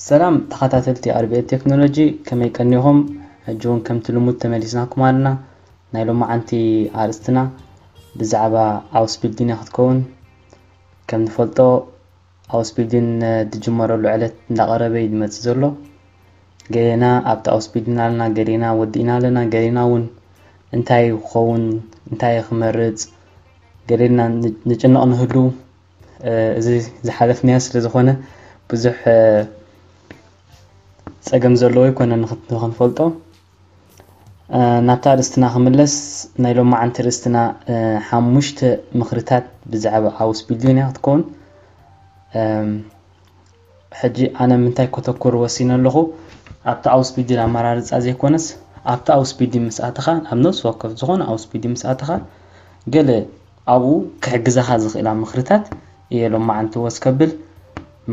ሰላም ተኸታተልቲ ኣርቢኤት ቴክኖሎጂ፣ ከመይ ቀኒኹም? ሕጂ እውን ከምቲ ልሙድ ተመሊስናኩም ኣለና። ናይ ሎማዓንቲ ኣርእስትና ብዛዕባ ኣውስቢልዲን እያ ክትከውን። ከም ንፈልጦ ኣውስቢልዲን ዝጅመረሉ ዕለት እንዳቐረበ እዩ ዝመጽእ ዘሎ። ገሌና ኣብቲ ኣውስቢልዲን ኣለና፣ ገሌና ወዲእና ኣለና፣ ገሌና እውን እንታይ ክኸውን እንታይ ክመርጽ ገሌና ንጭነቕ ንህሉ። እዚ ዝሓለፍናዮ ስለ ዝኾነ ብዙሕ ጸገም ዘለዎ ኣይኮነን ንኽንፈልጦ። ናብታ ርእስትና ክምለስ፣ ናይ ሎማዓንቲ ርእስትና ሓሙሽተ ምኽርታት ብዛዕባ ኣውስቢልዲን እያ ክትከውን። ሕጂ ኣነ ምንታይ ከተኩር ወሲነ ኣለኹ፣ ኣብቲ ኣውስቢልዲን ኣመራርጻ ዘይኮነስ ኣብቲ ኣውስቢልዲን ምስ ኣተኻ፣ ኣብ ነፍሲ ወከፍ ዝኾነ ኣውስቢልዲን ምስ ኣተኻ ገለ ኣብኡ ክሕግዘኻ ዝኽእላ ምኽርታት እየ ሎማዓንቲ ወስ ከብል።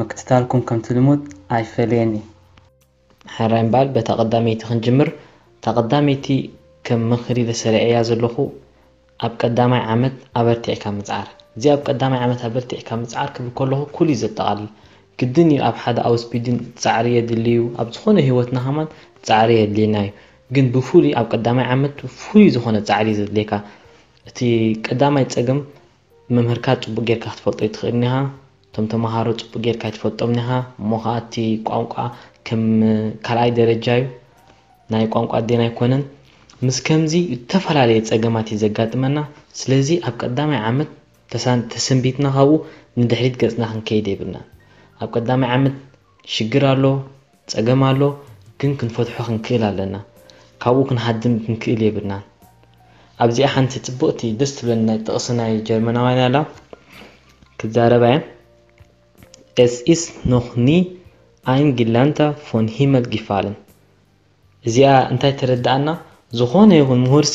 ምክትታልኩም ከምቲ ልሙድ ኣይፈለየኒ። ሕራይ እምበኣር በታ ቀዳመይቲ ክንጅምር። እታ ቀዳመይቲ ከም ምኽሪ ለሰሪዐያ ዘለኹ ኣብ ቀዳማይ ዓመት ኣበርቲዕካ ምጽዓር። እዚ ኣብ ቀዳማይ ዓመት ኣበርቲዕካ ምጽዓር ክብል ከለኹ ኩሉ እዩ ዘጠቓልል። ግድን እዩ ኣብ ሓደ ኣውስቢልዲን ጻዕሪ የድሊ እዩ። ኣብ ዝኾነ ህይወትና ከማን ጻዕሪ የድልየና እዩ። ግን ብፍሉይ ኣብ ቀዳማይ ዓመት ፍሉይ ዝኾነ ጻዕሪ እዩ ዘድልየካ። እቲ ቀዳማይ ጸገም መምህርካ ጽቡቕ ጌርካ ክትፈልጦ ኣይትኽእልን ኢኻ። እቶም ተመሃሮ ጽቡቕ ጌርካ ኣይትፈልጦምን ኢኻ። እሞ ኸኣ እቲ ቋንቋ ከም ካልኣይ ደረጃ እዩ። ናይ ቋንቋ ኣዴና ኣይኮነን። ምስ ከምዚ ዝተፈላለየ ጸገማት እዩ ዘጋጥመና። ስለዚ ኣብ ቀዳማይ ዓመት ተሳን-፣ ተሰንቢትና ካብኡ ንድሕሪት ገጽና ክንከይድ የብልናን። ኣብ ቀዳማይ ዓመት ሽግር ኣሎ፣ ጸገም ኣሎ፣ ግን ክንፈትሖ ክንክእል ኣለና። ካብኡ ክንሃድም ክንክእል የብልናን። ኣብዚኣ ሓንቲ ጽብቕቲ ደስ ትብለኒ ናይ ጥቕሲ ናይ ጀርመናውያን ኣላ። ክዛረባ እየ። Es ist noch nie ein Gelernter vom Himmel gefallen። እዚኣ እንታይ ተረድኣና? ዝኾነ ይኹን ምሁርሲ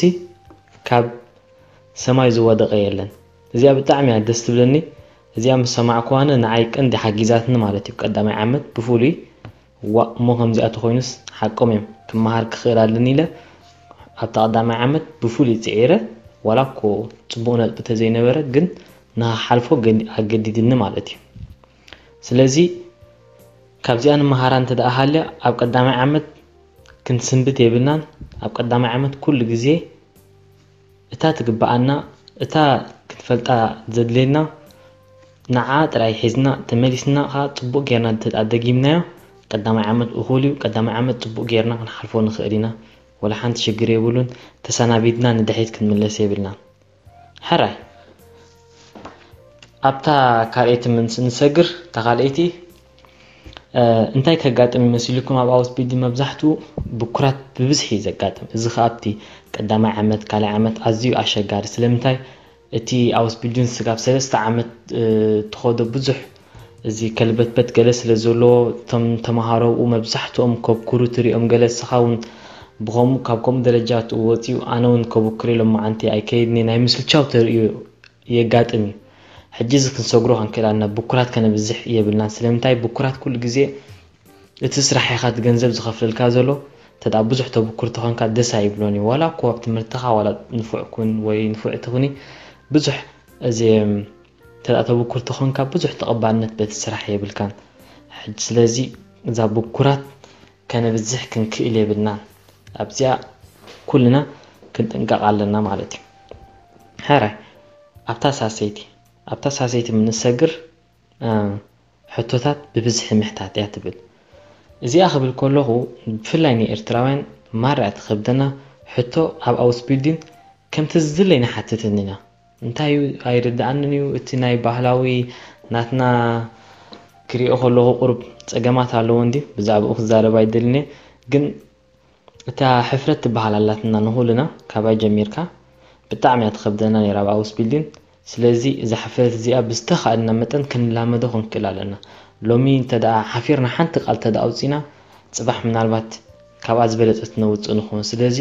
ካብ ሰማይ ዝወደቐ የለን። እዚኣ ብጣዕሚ እያ ደስ ትብለኒ። እዚኣ ምስ ሰማዕኩዋነ ንዓይ ቀንዲ ሓጊዛትኒ ማለት እዩ። ቀዳማይ ዓመት ብፍሉይ፣ ዋእ፣ እሞ ከምዚኣ ተኾይኑስ ሓቆም እዮም፣ ክመሃር ክኽእል ኣለኒ ኢለ ኣብታ ቀዳማይ ዓመት ብፍሉይ ጽዒረ። ዋላ እኮ ጽቡቕ ነጥቢ ተዘይነበረ ግን ንኽሓልፎ ገዲ-፣ ኣገዲድኒ ማለት እዩ። ስለዚ ካብዚኣ ንመሃራ እንተ ደኣ ሃልያ ኣብ ቀዳማይ ዓመት ክንስንብት የብልናን። ኣብ ቀዳማይ ዓመት ኩሉ ግዜ እታ ትግብኣና፣ እታ ክንፈልጣ ዘድልየና ንዓ ጥራይ ሒዝና ተመሊስና ኸኣ ጽቡቕ ጌርና እንተ ደኣ ደጊምናዮ፣ ቀዳማይ ዓመት እኹል እዩ። ቀዳማይ ዓመት ጽቡቕ ጌርና ክንሓልፎ ንኽእል ኢና። ወላ ሓንቲ ሽግር የብሉን። ተሰናቢድና ንድሕሪት ክንምለስ የብልናን። ሕራይ። ኣብታ ካልኣይቲ ምስ ንሰግር፣ እታ ካልኣይቲ፣ እ፣ እንታይ ከጋጥም ይመስልኩም? ኣብ ኣውስቢልዲን መብዛሕትኡ ብኩራት ብብዝሒ እዩ ዘጋጥም። እዚ ኸኣ ኣብቲ ቀዳማይ ዓመት፣ ካልኣይ ዓመት ኣዝዩ ኣሸጋሪ። ስለምንታይ? እቲ ኣውስቢልዲን ስጋብ ሰለስተ ዓመት፣ እ፣ ትኸዶ ብዙሕ እዚ ከልበትበት ገለ ስለ ዘሎ፣ እቶም ተመሃሮ ኣብኡ መብዛሕትኦም ከብኩሩ ትሪኦም፣ ገለ ንስኻ እውን ብኸምኡ፣ ካብ ከምኡ ደረጃ ወፂኡ፣ ኣነ እውን ከብኩር ኢሎም መዓንቲ ኣይከይድን እየ፣ ናይ ምስልቻው ተርእዮ የጋጥም እዩ። ሕጂ እዚ ክንሰግሮ ክንክእል ኣለና፣ ብኩራት ከነብዝሕ የብልናን። ስለምንታይ? ብኩራት ኩሉ ግዜ እቲ ስራሕ ኢኻ እቲ ገንዘብ ዝኸፍለልካ ዘሎ። እንተ ደኣ ብዙሕ ተብኩር ተኾንካ ደስ ኣይብሎን እዩ። ዋላ እኮ ኣብ ትምህርትኻ ዋላ ንፉዕ ኩን ወይ ንፉዕቲ ኩኒ፣ ብዙሕ እዚ፣ እንተ ደኣ ተብኩር ተኾንካ ብዙሕ ተቐባልነት በቲ ስራሕ የብልካን። ሕጂ ስለዚ እዛ ብኩራት ከነብዝሕ ክንክእል የብልናን። ኣብዚኣ ኩልና ክንጥንቀቕ ኣለና ማለት እዩ። ሕራይ፣ ኣብታ ሳሰይቲ፣ ኣብታ ሳሰይቲ ምንሰግር፣ እ፣ ሕቶታት ብብዝሒ ምሕታት እያ ትብል። እዚኣ ክብል ከለኹ፣ ብፍላይ ንኤርትራውያን ማራ እያ ትኸብደና። ሕቶ ኣብ ኣውስቢልዲን ከምቲ ዝድለይ ንሓትትን ኢና። እንታይ እዩ ኣይርድኣንን እዩ፣ እቲ ናይ ባህላዊ ናትና ክሪኦ ከለኹ ቁሩብ ጸገማት ኣለዎ እንድዩ። ብዛዕባኡ ክዛረብ ኣይደልን እየ። ግን እታ ሕፍረት ትበሃል ኣላትና ንኹልና፣ ካባይ ጀሚርካ። ብጣዕሚ እያ ትኸብደና ነይራ ኣብ ኣውስቢልዲን። ስለዚ እዛ ሕፍረት እዚኣ ብዝተኻእለና መጠን ክንላመዶ ክንክእል ኣለና። ሎሚ እንተ ደኣ ሓፊርና ሓንቲ ቃል እንተ ደኣ ኣውጺና፣ ጽባሕ ምናልባት ካብኣ ዝበለጸት ነውጽእ ንኸውን። ስለዚ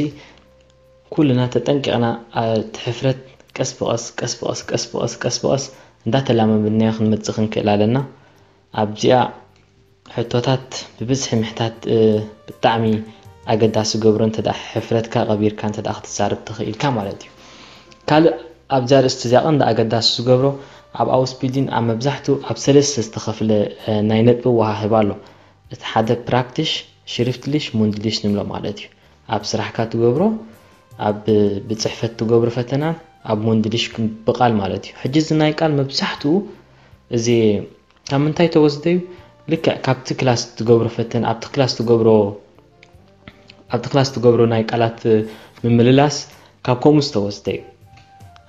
ኩልና ተጠንቂቕና፣ እ፣ እቲ ሕፍረት ቀስ ብቐስ፣ ቀስ ብቐስ፣ ቀስ ብቐስ፣ ቀስ ብቐስ እንዳተላመድናዮ ክንመጽእ ክንክእል ኣለና። ኣብዚኣ ሕቶታት ብብዝሒ ምሕታት፣ እ፣ ብጣዕሚ ኣገዳሲ ገብሮ፣ እንተ ደኣ ሕፍረትካ ቀቢርካ እንተ ደኣ ክትዛረብ ተኽኢልካ ማለት እዩ። ካልእ ኣብዛ ኣርእስቲ እዚኣ ቀንዲ ኣገዳሲ ዝገብሮ፣ ኣብ ኣውስቢልዲን ኣብ መብዛሕትኡ ኣብ ሰለስተ ዝተኸፍለ፣ እ፣ ናይ ነጥቢ ኣወሃህባ ኣሎ። እቲ ሓደ ፕራክቲሽ ሽሪፍትሊሽ ሙንድሊሽ ንብሎ ማለት እዩ። ኣብ ስራሕካ ትገብሮ፣ ኣብ ብፅሕፈት ትገብሮ ፈተናን ኣብ ሙንድሊሽ ብቃል ማለት እዩ። ሕጂ እዚ ናይ ቃል መብዛሕትኡ እዚ ካብ ምንታይ ተወስደ እዩ? ልክዕ ካብቲ ክላስ ትገብሮ ፈተና፣ ኣብቲ ክላስ ትገብሮ ኣብቲ ክላስ ትገብሮ ናይ ቃላት ምምልላስ ካብ ከምኡ ዝተወስደ እዩ።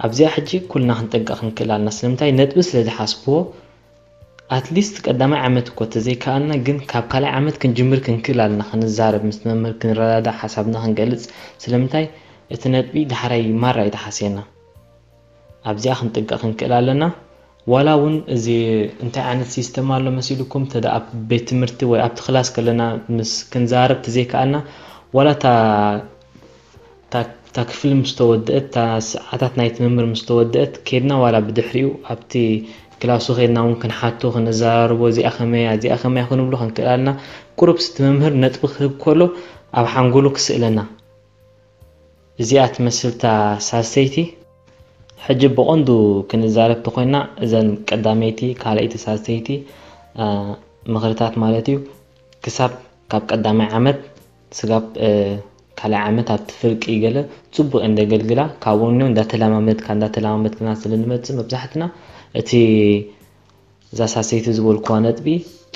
ኣብዚኣ ሕጂ ኩልና ክንጠንቀቕ ክንክእል ኣለና። ስለምንታይ? ነጥቢ ስለ ዝሓስብዎ፣ ኣትሊስት ቀዳማይ ዓመት እኮ ተዘይከኣልና፣ ግን ካብ ካልኣይ ዓመት ክንጅምር ክንክእል ኣለና። ክንዛረብ፣ ምስ መምህር ክንረዳዳእ፣ ሓሳብና ክንገልጽ። ስለምንታይ? እቲ ነጥቢ ዳሕራይ ማራ እዩ ተሓስየና። ኣብዚኣ ክንጥንቀቕ ክንክእል ኣለና። ዋላ እውን እዚ እንታይ ዓይነት ሲስተም ኣሎ መሲልኩም፣ ተዳ ኣብ ቤት ትምህርቲ ወይ ኣብቲ ክላስ ከለና ምስ ክንዛረብ ተዘይከኣልና፣ ዋላ እታ እታ ክፍሊ ምስ ተወደአት፣ እታ ሰዓታት ናይቲ መምህር ምስ ተወደአት፣ ኬድና ዋላ ብድሕሪኡ ኣብቲ ክላሱ ኬድና እውን ክንሓቶ፣ ክንዘራረቦ፣ እዚኣ ከመያ፣ እዚኣ ከመያ ክንብሎ ክንክእል ኣለና። ቁሩብ ስቲ መምህር ነጥቢ ክህብ ከሎ ኣብ ሓንጎሉ ክስእለና። እዚኣ ትመስል እታ ሳልሰይቲ። ሕጂ ብቐንዱ ክንዛረብ ተኾይና፣ እዘን ቀዳመይቲ፣ ካልኣይቲ፣ ሳልሰይቲ ምኽርታት ማለት እዩ። ክሳብ ካብ ቀዳማይ ዓመት ስጋብ ካልኣይ ዓመት ኣብቲ ፍርቂ ገለ ጽቡቕ እንደ ገልግላ፣ ካብኡ እንዳተለማመድካ እንዳተለማመድክና ስለ ንመጽእ፣ መብዛሕትና እቲ እዛ ሳልሰይቲ ዝበልኩዋ ነጥቢ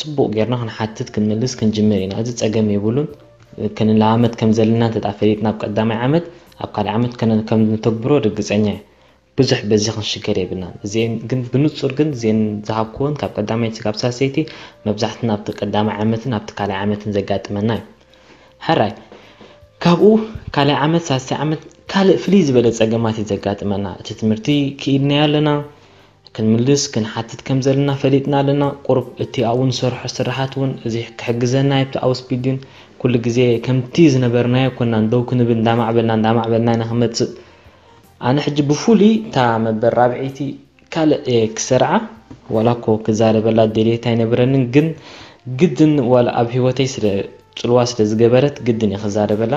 ጽቡቕ ጌርና ክንሓትት ክንምልስ ክንጅምር ኢና። እዚ ጸገም የብሉን። ክንለማመድ ከም ዘለና እንተ ፈሊጥና ኣብ ቀዳማይ ዓመት፣ ኣብ ካልኣይ ዓመት ከም ንተግብሮ ርግጸኛ እየ። ብዙሕ በዚ ክንሽገር የብልናን። እዚአን ግን ብንጹር ግን እዚአን ዝሃብኩወን ካብ ቀዳማይ ስጋብ ሳልሰይቲ መብዛሕትና ኣብቲ ቀዳማይ ዓመትን ኣብቲ ካልኣይ ዓመትን ዘጋጥመና እዩ። ሕራይ ካብኡ ካልኣይ ዓመት ሳልሳይ ዓመት ካልእ ፍልይ ዝበለ ጸገማት እዩ ዘጋጥመና። እቲ ትምህርቲ ክኢልናዮ ኣለና፣ ክንምልስ ክንሓትት ከም ዘለና ፈሊጥና ኣለና። ቁሩብ እቲ ኣብኡ ንሰርሖ ስራሓት እውን እዚ ክሕግዘና እዩ። ኣብቲ ኣውስቢልዲን ኩሉ ግዜ ከምቲ ዝነበርናዮ ኮና ደው ክንብል እንዳማዕበልና እንዳማዕበልና ኢና ክመጽእ። ኣነ ሕጂ ብፍሉይ እታ መበል ራብዐይቲ ካልእ እየ ክሰርዓ፣ ዋላ እኮ ክዛረበላ ድሌት ኣይነበረንን፣ ግን ግድን ዋላ ኣብ ህይወተይ ስለ ጽልዋ ስለ ዝገበረት ግድን እየ ክዛረበላ።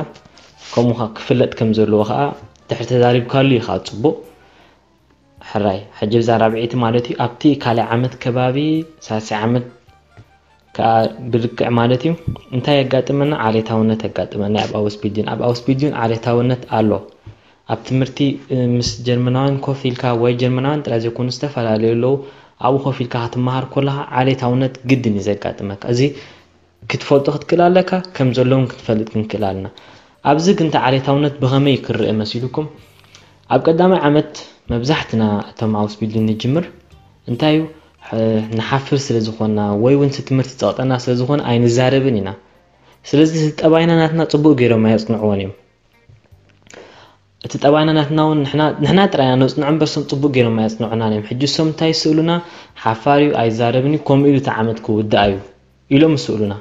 ከምኡ ኸኣ ክፍለጥ ከም ዘለዎ ኸኣ ድሕሪ ተዛሪብካሉ እዩ ኸኣ ጽቡቕ። ሕራይ ሕጂ ብዛ ራብዐይቲ ማለት እዩ ኣብቲ ካልኣይ ዓመት ከባቢ ሳልሳይ ዓመት ከኣ ብልክዕ ማለት እዩ እንታይ የጋጥመና? ዓሌታውነት የጋጥመና ኣብ ኣውስቢልዲን። ኣብ ኣውስቢልዲን ዓሌታውነት ኣሎ። ኣብ ትምህርቲ ምስ ጀርመናውያን ኮፍ ኢልካ ወይ ጀርመናውያን ጥራይ ዘይኮኑ ዝተፈላለዩ ኣለዉ ኣብኡ ኮፍ ኢልካ ክትመሃር ከለኻ ዓሌታውነት ግድን እዩ ዘጋጥመካ። እዚ ክትፈልጦ ክትክእል ኣለካ፣ ከም ዘለውን ክትፈልጥ ክንክእል ኣለና። ኣብዚ ግን እቲ ዓሌታውነት ብኸመይ ክረአ መሲሉኩም? ኣብ ቀዳማይ ዓመት መብዛሕትና እቶም ኣውስቢልዲን ንጅምር እንታይ እዩ ንሓፍር ስለ ዝኾንና ወይ እውን እቲ ትምህርቲ ጸቕጠና ስለ ዝኾነ ኣይንዛረብን ኢና። ስለዚ እዚ ጠባይና ናትና ጽቡቕ ገይሮም ኣየጽንዕዎን እዮም። እቲ ጠባይና ናትና እውን ንሕና ጥራይ ኢና ነጽንዖ እምበር እሶም ጽቡቕ ገይሮም ኣየጽንዑናን እዮም። ሕጂ እሶም እንታይ ይስእሉና? ሓፋር እዩ፣ ኣይዛረብን እዩ፣ ከምኡ ኢሉ እቲ ዓመት ክውዳእ እዩ ኢሎም ይስእሉና።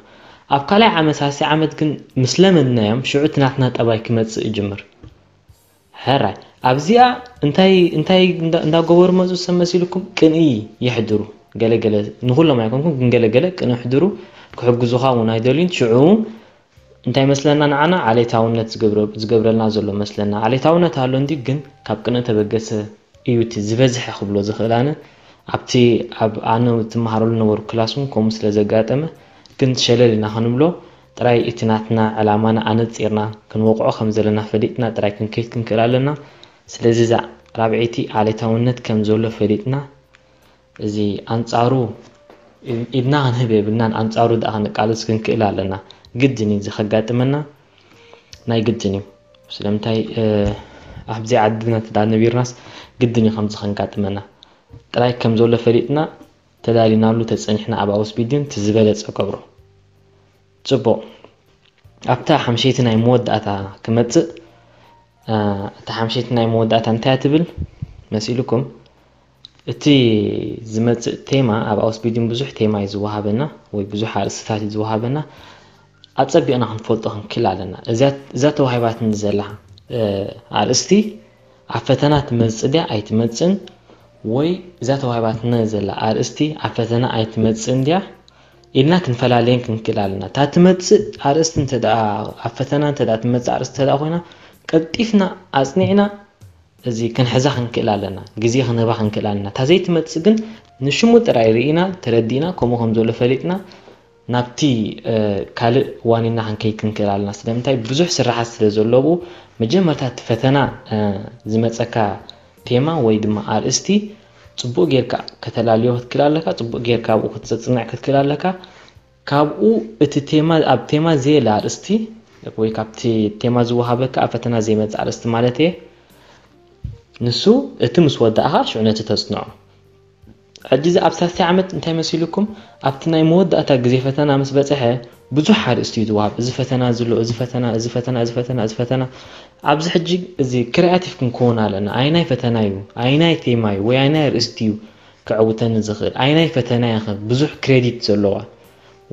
ኣብ ካልኣይ ዓመት ሳልሳይ ዓመት ግን ምስ ለመድናዮም ሽዑ እቲ ናትና ጠባይ ክመጽእ ይጅምር። ሕራይ ኣብዚኣ እንታይ እንታይ እንዳገበሩ መፁ ሰብ መሲልኩም ቅንኢ የሕድሩ። ገለገለ ንኩሎም ኣይኮንኩም ግን ገለገለ ቅንኢ ሕድሩ ክሕግዙኻ እውን ኣይደልዩን። ሽዑ እንታይ መስለና ንዓና ዓሌታውነት ዝገብረልና ዘሎ መስለና። ዓሌታውነት ኣሎ እንዲ ግን ካብ ቅንኢ ተበገሰ እዩ እቲ ዝበዝሐ ክብሎ ዝኽእል። ኣነ ኣብቲ ኣብ ኣነ ትመሃረሉ ነበሩ ክላስ እውን ከምኡ ስለ ዘጋጠመ ግን ሸለል ኢና ክንብሎ ጥራይ እቲ ናትና ዕላማና ኣነጺርና ክንወቕዖ ከም ዘለና ፈሊጥና ጥራይ ክንከይድ ክንክእል ኣለና። ስለዚ እዛ ራብዐይቲ ዓሌታውነት ከም ዘሎ ፈሊጥና እዚ ኣንጻሩ ኢድና ክንህብ የብልናን ኣንጻሩ ደኣ ክንቃለስ ክንክእል ኣለና። ግድን እዩ እዚ ከጋጥመና ናይ ግድን እዩ። ስለምንታይ ኣብዚ ዓድና እንተ ነቢርናስ ግድን እዩ ከምዚ ከንጋጥመና። ጥራይ ከም ዘሎ ፈሊጥና ተዳሊናሉ ተጸኒሕና ኣብ ኣውስቢልዲን እቲ ዝበለጸ ገብሮ። ጽቡቕ ኣብታ ሓምሸይቲ ናይ መወዳእታ ክመጽእ እታ ሓምሸይቲ ናይ መወዳእታ እንታይ ትብል መሲልኩም? እቲ ዝመጽእ ቴማ ኣብ ኣውስቢልዲን ብዙሕ ቴማ እዩ ዝወሃበና ወይ ብዙሕ ኣርእስትታት እዩ ዝወሃበና። ኣጸቢቕና ክንፈልጦ ክንክእል ኣለና። እዛ ተዋሂባትኒ ዘላ ኣርእስቲ ኣብ ፈተና ትመጽእ ድያ ኣይትመጽእን ወይ እዛ ተዋሂባትና ዘላ ኣርእስቲ ኣብ ፈተና ኣይትመጽእን ድያ ኢልና ክንፈላለየን ክንክእል ኣለና። እታ ትመጽእ ኣርእስቲ እንተ ደኣ ኣብ ፈተና እንተ ደኣ ትመጽእ ኣርእስቲ እንተ ደኣ ኮይና ቀልጢፍና ኣጽኒዕና እዚ ክንሕዛ ክንክእል ኣለና፣ ግዜ ክንህባ ክንክእል ኣለና። እታ ዘይትመጽእ ግን ንሽሙ ጥራይ ርኢና ተረዲእና ከምኡ ከም ዘሎ ፈሊጥና ናብቲ ካልእ ዋኒና ክንከይድ ክንክእል ኣለና። ስለምንታይ? ብዙሕ ስራሓት ስለ ዘለዉ፣ መጀመርታ እቲ ፈተና ዝመፀካ ቴማ ወይ ድማ ኣርእስቲ ፅቡቅ ጌርካ ከተላልዮ ክትክእል ኣለካ። ፅቡቅ ጌርካ ኣብኡ ክትፅንዕ ክትክእል ኣለካ። ካብኡ እቲ ቴማ፣ ኣብ ቴማ ዘየለ ኣርእስቲ ወይ ካብቲ ቴማ ዝወሃበካ ኣብ ፈተና ዘይመፅእ ኣርእስቲ ማለት እየ። ንሱ እቲ ምስ ወዳእኻ ሽዑ ነቲ ተፅንዖ። ሕጂ እዚ ኣብ ሳልሳይ ዓመት እንታይ መሲልኩም? ኣብቲ ናይ መወዳእታ ግዜ ፈተና ምስ በፅሐ ብዙሕ ኣርእስቲ እዩ ዝወሃብ። እዚ ፈተና ዝሎ፣ እዚ ፈተና፣ እዚ ፈተና፣ እዚ ፈተና፣ እዚ ፈተና። ኣብዚ ሕጂ እዚ ክሪያቲቭ ክንከውን ኣለና። ኣይናይ ፈተና እዩ፣ ኣይናይ ቴማ እዩ፣ ወይ ኣይናይ ኣርእስቲ እዩ ክዕውተኒ ዝኽእል፣ ኣይናይ ፈተና እያ ብዙሕ ክሬዲት ዘለዋ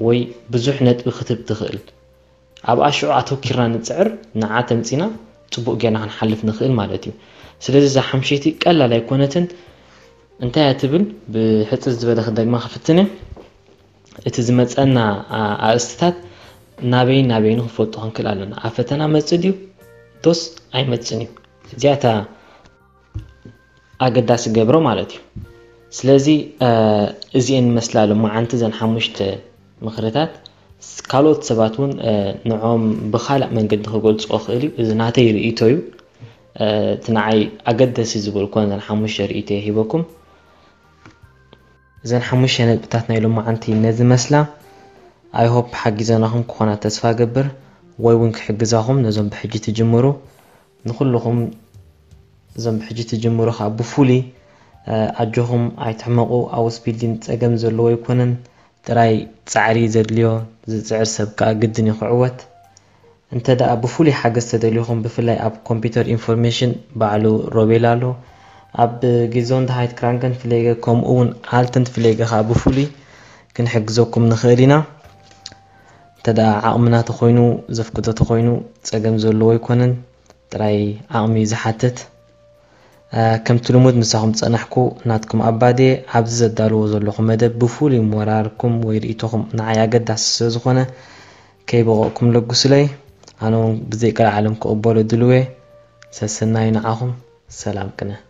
ወይ ብዙሕ ነጥቢ ክትብ ትኽእል። ኣብኣ ሽዑ ኣተኪርና ንፅዕር፣ ንዓ ተምፂና ፅቡቅ ጌርና ክንሓልፍ ንኽእል ማለት እዩ። ስለዚ እዛ ሓምሸይቲ ቀላል ኣይኮነትን። እንታይ እያ ትብል? ብሕፅር ዝበለ ክደግማ ክፍትን እየ። እቲ ዝመፀና ኣርእስትታት ናበይን ናበይን ክንፈልጦ ክንክእል ኣለና። ኣብ ፈተና መፅእ ድዩ ዶስ ኣይመፅን እዩ? እዚኣታ ኣገዳሲ ገብሮ ማለት እዩ። ስለዚ እዚአን መስላ ሎማዓንቲ ዘን ሓሙሽተ ምኽርታት ካልኦት ሰባት እውን ንዖም ብኻልእ መንገዲ ክገልፅኦ ክእል እዩ። እዚ ናተይ ርእይቶ እዩ። እቲ ንዓይ ኣገደሲ ዝበልኩ ዘን ሓሙሽተ ርእይቶ ሂበኩም። እዘን ሓሙሽተ ነጥብታት ናይ ሎማዓንቲ ነዚ መስላ። ኣይሆፕ ሓጊዘናኹም ክኾና ተስፋ ገብር ወይ እውን ክሕግዛኹም ነዞም ብሕጂ ትጅምሩ ንኩልኹም እዞም ብሕጂ ትጅምሩ ከዓ ብፍሉይ ኣጆኹም ኣይትሕመቑ። ኣውስ ቢልዲን ፀገም ዘለዎ ኣይኮነን፣ ጥራይ ፃዕሪ ዘድልዮ። ዝፅዕር ሰብ ከዓ ግድን እዩ ክዕወት። እንተ ደኣ ብፍሉይ ሓገዝ ተደልዩኹም ብፍላይ ኣብ ኮምፒውተር ኢንፎርሜሽን ባዕሉ ሮቤል ኣሎ። ኣብ ጊዞንድሃይት ክራንከን ፍሌገ ከምኡ እውን ኣልተን ፍሌገ ከዓ ብፍሉይ ክንሕግዘኩም ንኽእል ኢና። እንተ ደኣ ዓቕምና ተኾይኑ ዘፍቅዶ ተኾይኑ ፀገም ዘለዎ ኣይኮነን። ጥራይ ዓቕሚ እዩ ዝሓትት። ከምቲ ልሙድ ምሳኹም ዝፀናሕኩ ናትኩም ኣባዴ ኣብዚ ዘዳልዎ ዘለኹ መደብ ብፍሉይ ሞራርኩም ወይ ርእይቶኹም ንዓይ ኣገዳሲ ስለ ዝኾነ ከይበቐቕኩም ለግሱለይ። ኣነ እውን ብዘይቀልዓለም ክቕበሎ ድልው እየ። ሰሰናዩ ንዓኹም። ሰላም ቅነ።